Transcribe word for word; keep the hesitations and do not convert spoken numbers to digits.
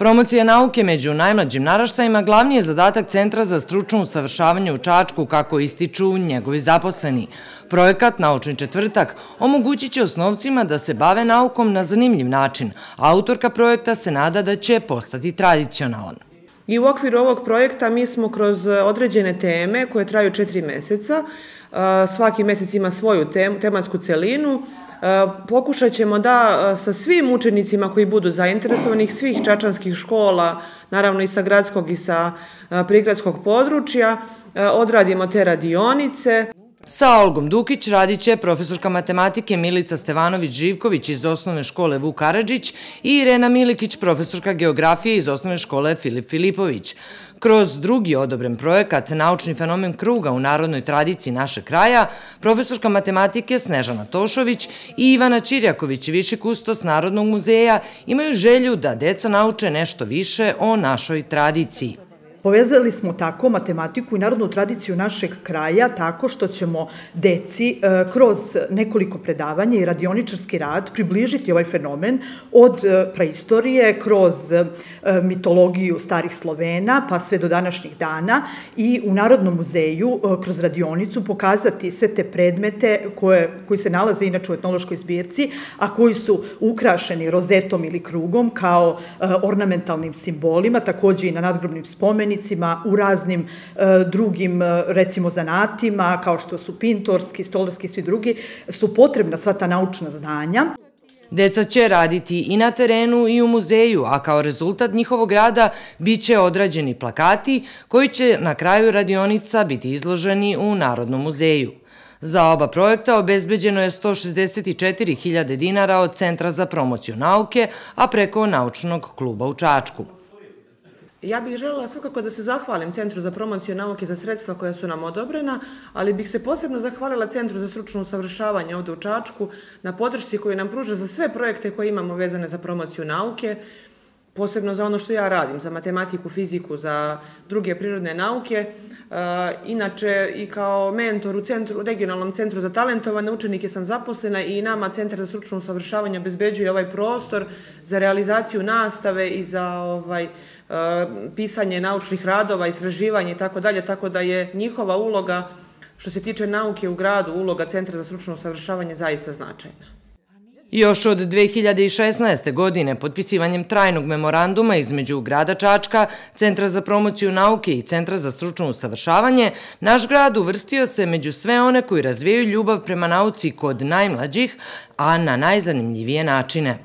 Promocija nauke među najmlađim naraštajima glavni je zadatak Centra za stručno usavršavanje u Čačku, kako ističu njegovi zaposleni. Projekat Naučni četvrtak omogućit će osnovcima da se bave naukom na zanimljiv način, a autorka projekta se nada da će postati tradicionalan. I u okviru ovog projekta mi smo kroz određene teme koje traju četiri meseca, svaki mesec ima svoju tematsku celinu, pokušat ćemo da sa svim učenicima koji budu zainteresovanih, svih čačanskih škola, naravno i sa gradskog i sa prigradskog područja, odradimo te radionice. Sa Olgom Dukić radit će profesorka matematike Milica Stevanović-Živković iz osnovne škole Vuk Karadžić i Irena Milikić, profesorka geografije iz osnovne škole Filip Filipović. Kroz drugi odobren projekat Naučni fenomen kruga u narodnoj tradiciji našeg kraja, profesorka matematike Snežana Tošović i Ivana Čirjaković, viši kustos Narodnog muzeja, imaju želju da deca nauče nešto više o našoj tradiciji. Povezali smo tako matematiku i narodnu tradiciju našeg kraja tako što ćemo deci kroz nekoliko predavanja i radioničarski rad približiti ovaj fenomen od praistorije, kroz mitologiju starih Slovena pa sve do današnjih dana i u Narodnom muzeju kroz radionicu pokazati sve te predmete koje, koji se nalaze inače u etnološkoj zbirci, a koji su ukrašeni rozetom ili krugom kao ornamentalnim simbolima, takođe i na nadgrobnim spomenicima, u raznim drugim, recimo, zanatima, kao što su pintorski, stolarski i svi drugi, su potrebna sva ta naučna znanja. Deca će raditi i na terenu i u muzeju, a kao rezultat njihovog rada biće odrađeni plakati koji će na kraju radionica biti izloženi u Narodnom muzeju. Za oba projekta obezbeđeno je sto šezdeset četiri hiljade dinara od Centra za promociju nauke, a preko Naučnog kluba u Čačku. Ja bih željela svakako da se zahvalim Centru za promociju nauke za sredstva koja su nam odobrena, ali bih se posebno zahvalila Centru za stručno usavršavanje ovde u Čačku na podršci koju nam pruža za sve projekte koje imamo vezane za promociju nauke, posebno za ono što ja radim, za matematiku, fiziku, za druge prirodne nauke. Inače, i kao mentor u centru, regionalnom centru za talentovane učenike sam zaposlena i nama Centar za stručno usavršavanje obezbeđuje ovaj prostor za realizaciju nastave i za ovaj, pisanje naučnih radova, istraživanje i tako dalje, tako da je njihova uloga, što se tiče nauke u gradu, uloga Centra za stručno usavršavanje zaista značajna. Još od dve hiljade šesnaeste. godine potpisivanjem trajnog memoranduma između grada Čačka, Centra za promociju nauke i Centra za stručno usavršavanje, naš grad uvrstio se među sve one koji razvijaju ljubav prema nauci kod najmlađih, a na najzanimljivije načine.